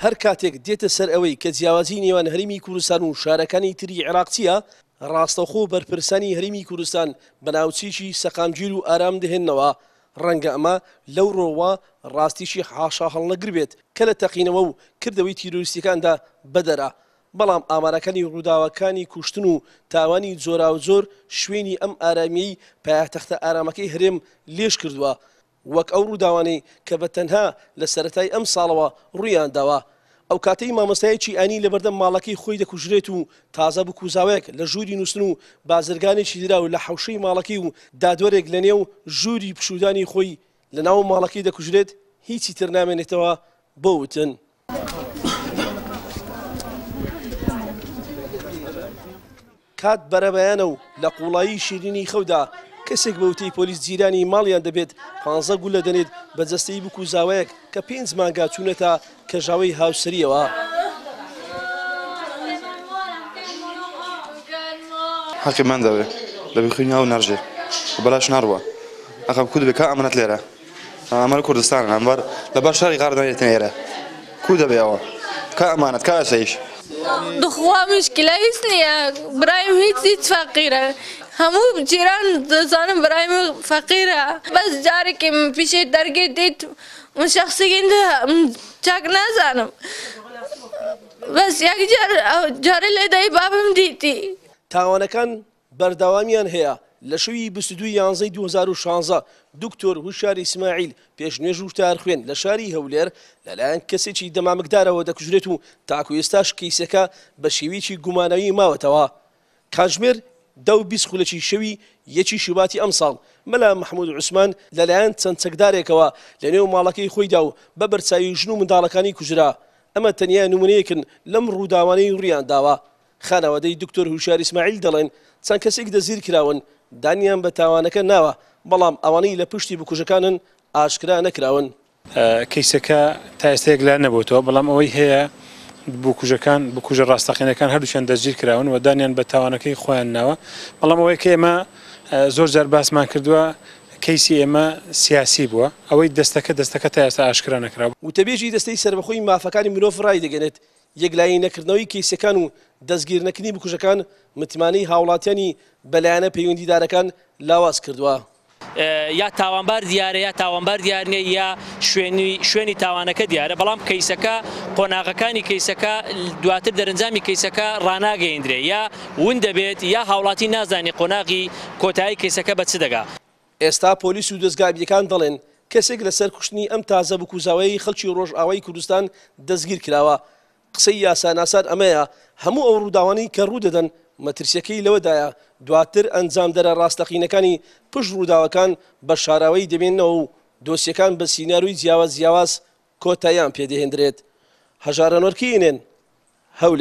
هەر کاتێک دێتە سەر ئەوەی کە جیاوازی نێوان هەرێمی کوردستان و شارەکانی تری عێراق چییە، ڕاستەوخۆ بەرپرسانی هەرێمی کوردستان بە ناوچەیەکی سەقامگیر و ئارام دەهێننەوە، ڕەنگە ئەمە لەو ڕووەوە ڕاستییەکی حاشاهەڵنەگر بێت کە لە تەقینەوە و کردەوەی تیرۆریستییەکاندا بەدەرە، بەڵام ئامارەکانی ڕووداوەکانی کوشتن و تاوانی جۆراوجۆر شوێنی ئەم ئارامییەی پایەتەختە ئارامەکەی هەرێم لێژ کردووە، وەک ئەو ڕووداوانەی کە بە تەنها لە سەرەتای ئەم ساڵەوە ڕوویانداوە. ئەو کاتەی مامۆستایەکی ئاینی لەبەردەم ماڵەکەی خۆی دەکوژرێت و تازە بکوزاوێک لە ژووری نووستن و بازرگانێکی دراو لە حەوشەی ماڵەکەی و دادوەرێک لەنێو ژووری پشوودانی خۆی لەناو ماڵەکەی دەکوژرێت، هیچی تر نامێنێتەوە بۆ وتن. کات بەرەبەیانە و لە قوڵایی شیرینی خەودا کەسێک بە وتەی پۆلیس جیرانی ماڵیان دەبێت پانزە گولە دەنێت بە جەستەی بوک و زاوایەک کە پێنج مانگە چوونەتە کەژاوەی هاوسەرییەوە. حەقی من دەوێ دەبی خوین ئاو نەرژێ و بەلاش نەڕوا ئەخە کو دەبێ کا ئەمانەت لێرە ئەمە کوردستانە ئەمبەر لەبەر شەڕی غار دەنێتن ئێرە کو دەبێ ئەوە کا ئەمانەت کا ئاسایش. دخوا مشکلە هیچ نییە برایم هیچ هیچ فەقیرە هەموو جیران دەزانن برایم فەقیرە بەس جارێکی پیشێ دەرگێ دیت من شخصی گەندە چاک نازانم بەس یەک جار جارێ لێ دای بابم دیتی. تاوانەکان بەردەوامیان هەیە، لە شەوی 22 ی یانزەی 2016 دکتۆر هوشیار ئیسماعیل پێشنوێژ و تارخوێن لە شاری هەولێر لەلایەن کەسێکی دەمامکدارەوە دەکوژرێت و تاکو ئێستاش کەیسەکە بە شێوەیەکی گوماناوی ماوەتەوە. کاتژمێر دە و 20 خولەکی شەوی یەکی شوباتی ئەمساڵ مەلا مەحمود عوسمان لەلایەن چەند چەکدارێکەوە لەنێو ماڵەکەی خۆیدا و بە بەرچاوی ژن و منداڵەکانی کوژرا. ئەمە تەنیا نمونەیەکن لەم ڕووداوانەی ڕوویانداوە. خانەوادەی دکتۆر هوشیار ئیسماعیل دەڵێن، چەند کەسێک دەستگیرکراون، دانیان بە تاوانەکە ناوە، بەڵام ئەوانەی لە پشتی بکوژەکانن ئاشکرا نەکراون. کەیسەکە تا ئێستا یەکلا نەبووەتەوە، بەڵام ئەوەی هەیە بکوژەکان، بکوژە ڕاستەقینەکان هەردووکیان دەستگیرکراون و دانیان بە تاوانەکەی خۆیان ناوە، بەڵام ئەوەی کە ئێمە زۆر جار باسمان کردووە کەیسی ئێمە سیاسی بووە، ئەوەی دەستەکە دەستەکە تا ئێستا ئاشکرا نەکراوە. وتەبێژی دەستەی سەربەخۆی مافەکانی مرۆڤ ڕایدەگەنێت، یەکلایی نەکردنەوەی کەیسەکان و دەستگیرنەکردنی بکوژەکان متمانەی هاوڵاتیانی بە لایەنە پەیوەندیدارەکان لاواز کردووە. یا تاوانبار دیارە یا تاوانبار دیار نییە یا شوێنی شوێنی تاوانەکە دیارە بەڵام کەیسەکە قۆناغەکانی کەیسەکە دواتر دەرەنجامی کەیسەکە ڕاناگەیندرێ یا ون دەبێت یا هاوڵاتی نازانێ قۆناغی کۆتایی کەیسەکە بە چ دەگا. ئێستا پۆلیس و دەزگا ئەمنییەکان دەڵێن، کەسێک لەسەر کوشتنی ئەم تازە بکوزاوەیەی خەڵکی ڕۆژئاوای کوردستان دەستگیرکراوە. قسەی یاساناسان ئەمەیە، هەموو ئەو ڕووداوانەی کە ڕوودەدەن مەترسییەکەی لەوەدایە دواتر ئەنجامدەرە ڕاستەقینەکانی پشت ڕووداوەکان بە شاراوەیی دەمێننەوە و دۆسیەکان بە سیناریۆی جیاواز جیاواز کۆتاییان پێدەهێندرێت. هەژار ئەنوەر کەی ئێن ئێن، هەولێر.